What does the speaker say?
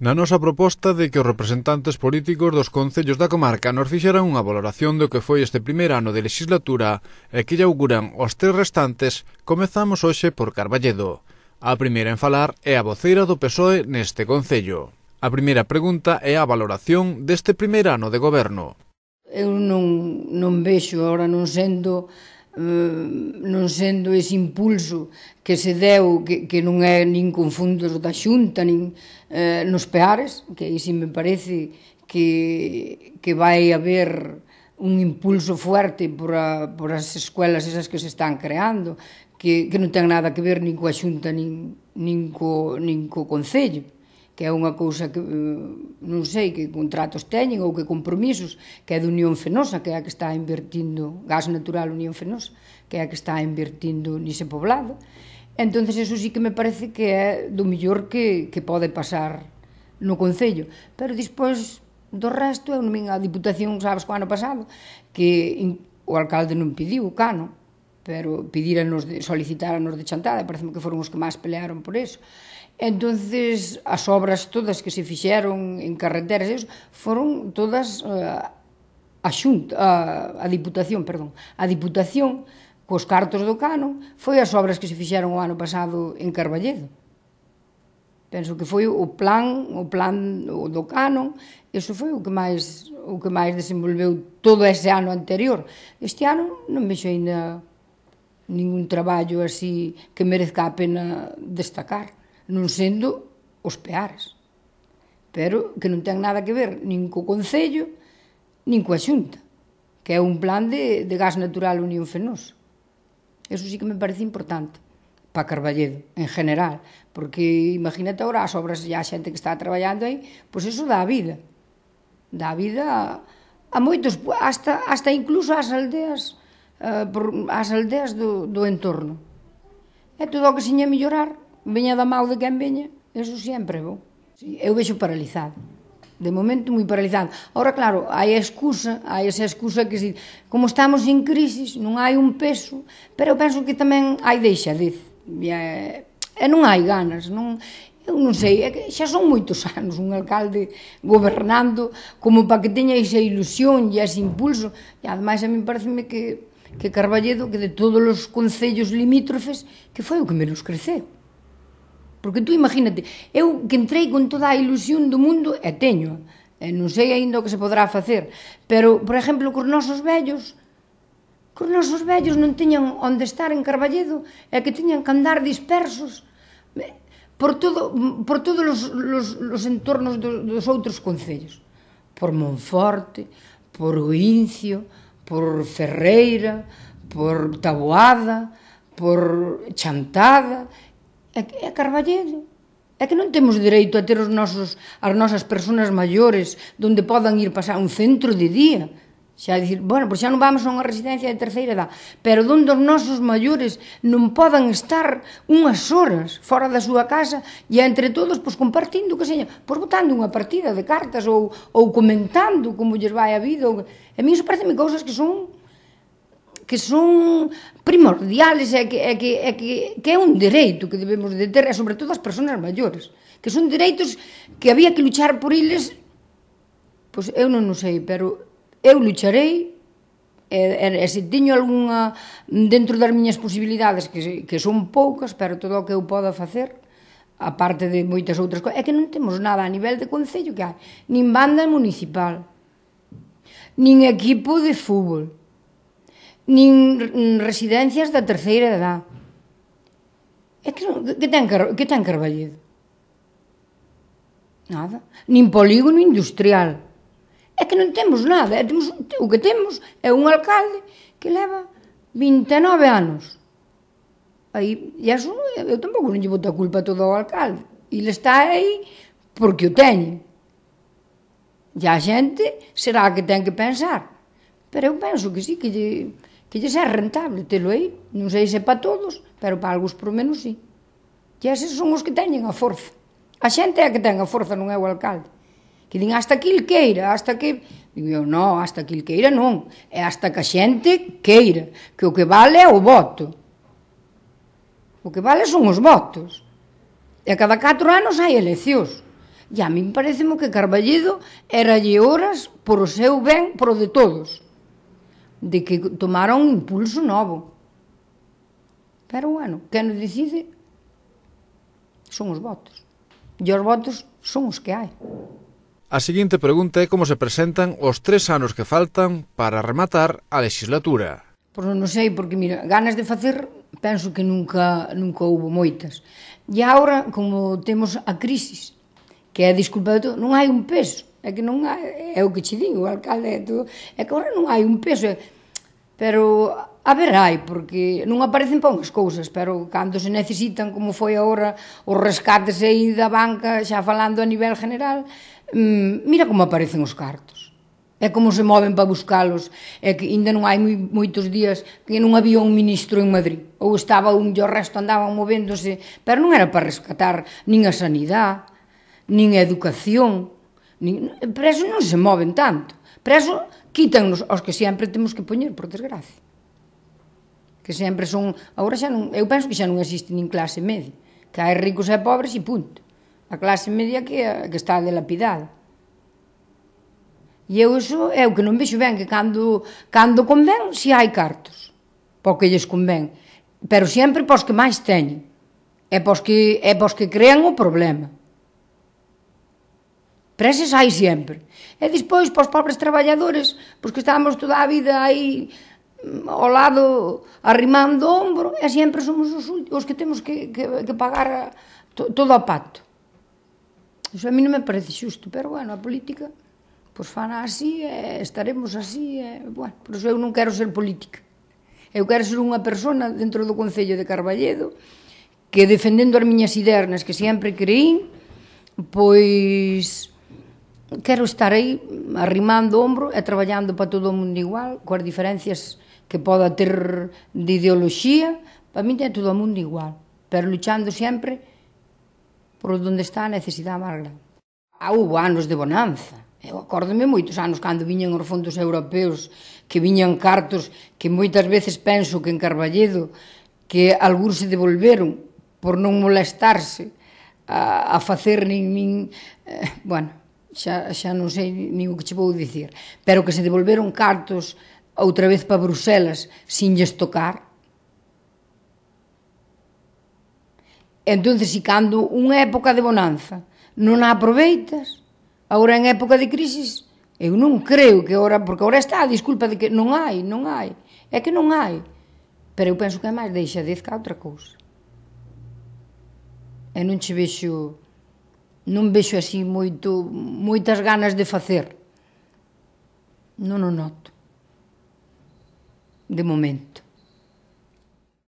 Na nosa proposta de que os representantes políticos dos concellos da comarca nos fixeran unha valoración do que foi este primeiro ano de legislatura e que lle auguran os 3 restantes, comezamos hoxe por Carballedo. A primeira en falar é a voceira do PSOE neste concello. A primeira pregunta é a valoración deste primeiro ano de goberno. Eu non vexo agora non sendo ese impulso que se deu, que non é nin con fundos da Xunta, nin nos Peares, que aí si me parece que vai haber un impulso fuerte por as escuelas esas que se están creando, que non ten nada que ver nin coa Xunta nin co Concello, que é unha cousa que non sei que contratos teñen ou que compromisos, que é de Unión Fenosa, que é a que está invertindo, Gas Natural Unión Fenosa, que é a que está invertindo nese poblado. Entonces, eso sí que me parece que é do mellor que pode pasar no Concello. Pero despois do resto, eu non vin a Diputación, sabes, co ano pasado, que o alcalde non pediu o cano, pero solicitaраnos de chantada, e parece que foron os que máis pelearon por eso. Entonces, as obras todas que se fixeron en carreteras, foron todas a Diputación, cos cartos do cano, foi as obras que se fixeron o ano pasado en Carballedo. Penso que foi o plan do cano, eso foi o que máis desenvolveu todo ese ano anterior. Este ano non vexo ainda ningún traballo así que merezca a pena destacar, non sendo os Peares, pero que non ten nada que ver nin co Concello, nin coa Xunta, que é un plan de Gas Natural Unión Fenosa. Eso sí que me parece importante para Carballedo, en general, porque imagínate agora as obras, a xente que está traballando aí, pois eso dá vida a moitos, hasta incluso ás aldeas do entorno. E todo o que seña mellorar, veña da mau de quen veña, eso sempre é bom. Eu vexo paralizado, de momento moi paralizado. Ahora, claro, hai esa excusa que como estamos en crisis, non hai un peso, pero eu penso que tamén hai deixadez, e non hai ganas, eu non sei, é que xa son moitos anos un alcalde gobernando como para que teña esa ilusión e ese impulso, e ademais a mí pareceme que Carballedo, que de todos os concellos limítrofes, que foi o que menos creceu. Porque tú imagínate, eu que entrei con toda a ilusión do mundo, e teño, non sei aínda o que se podrá facer, pero, por exemplo, cos nosos vellos non teñan onde estar en Carballedo, e que teñan que andar dispersos por todos os entornos dos outros concellos, por Monforte, por Oincio, por Ferreira, por Taboada, por Chantada, é Carballedo. É que non temos dereito a ter as nosas persoas maiores onde podan ir pasar un centro de día. Xa dicir, bueno, pois xa non vamos a unha residencia de terceira edad, pero onde os nosos maiores non podan estar unhas horas fora da súa casa e entre todos, pois compartindo, que seña, pois botando unha partida de cartas ou comentando como lles vai a vida. A mí iso pareceme cousas que son primordiales, que é un dereito que debemos de ter, e sobre todo as persoas maiores, que son dereitos que había que luchar por eles. Pois eu non o sei, pero eu lucharei, e se teño algunha dentro das miñas posibilidades, que son poucas, pero todo o que eu poda facer, aparte de moitas outras cousas, é que non temos nada a nivel de concello que hai, nin banda municipal, nin equipo de fútbol, nin residencias da terceira edad. Que ten Carballedo? Nada. Nin polígono industrial. É que non temos nada. O que temos é un alcalde que leva 29 anos. E iso, eu tampouco non lle boto a culpa todo ao alcalde. Ele está aí porque o teñe. E a xente será a que ten que pensar. Pero eu penso que sí, que lles é rentable telo aí. Non sei se para todos, pero para algúns por menos sí. E eses son os que teñen a forza. A xente é a que ten a forza, non é o alcalde. Que din hasta que il queira, hasta que... Digo eu, non, hasta que il queira non. É hasta que a xente queira. Que o que vale é o voto. O que vale son os votos. E a cada 4 anos hai eleccións. E a mí pareceme que Carballedo eralle horas por o seu ben, por o de todos, de que tomara un impulso novo. Pero, bueno, quen o decide son os votos. E os votos son os que hai. A seguinte pregunta é como se presentan os 3 anos que faltan para rematar a legislatura. Pois non sei, porque, mira, ganas de facer, penso que nunca houbo moitas. E agora, como temos a crisis, que é a disculpa de todo, non hai un peso. É que non hai, é o que che digo, o alcalde é todo. É que agora non hai un peso, pero a ver hai, porque non aparecen para unhas cousas, pero cando se necesitan, como foi agora, os rescates aí da banca, xa falando a nivel general, mira como aparecen os cartos. É como se moven para buscalos. É que ainda non hai moitos días que non había un ministro en Madrid. Ou estaba un e o resto andaban movéndose. Pero non era para rescatar nin a sanidade, nin a educación. Para eso non se moven tanto. Para eso quítannos aos que sempre temos que poñer, por desgracia. Que sempre son... Agora xa non... Eu penso que xa non existe nin clase media. Que hai ricos e pobres e punto. A clase media que está delapidada. E eu iso é o que non vexo ben, que cando convén, si hai cartos, para o que lles convén, pero sempre para os que máis teñen, é para os que crean o problema. Para eses hai sempre. E despois, para os pobres traballadores, pois que estamos toda a vida aí ao lado, arrimando o ombro, e sempre somos os que temos que pagar todo o pacto. Iso a mí non me parece xusto, pero, bueno, a política... Pois fana así, estaremos así, bueno, por iso eu non quero ser política. Eu quero ser unha persona dentro do Concello de Carballedo que, defendendo as miñas ideas nas que sempre creín, pois quero estar aí arrimando o ombro e traballando para todo o mundo igual, coas diferencias que poda ter de ideoloxía, para mí é todo o mundo igual, pero luchando sempre por onde está a necesidade máis grande. Houve anos de bonanza. Eu acórdome moitos anos cando viñan os fondos europeos, que viñan cartos que moitas veces penso que en Carballedo, que algúns se devolveron por non molestarse a facer nin bueno, xa non sei nin o que che vou dicir, pero que se devolveron cartos outra vez para Bruselas sin lles tocar. Entón, se cando unha época de bonanza non a aproveitas, agora en época de crisis, eu non creo que agora, porque agora está a disculpa de que non hai, é que non hai, pero eu penso que é máis deixadez que outra cousa. E non vexo así moitas ganas de facer, non o noto, de momento.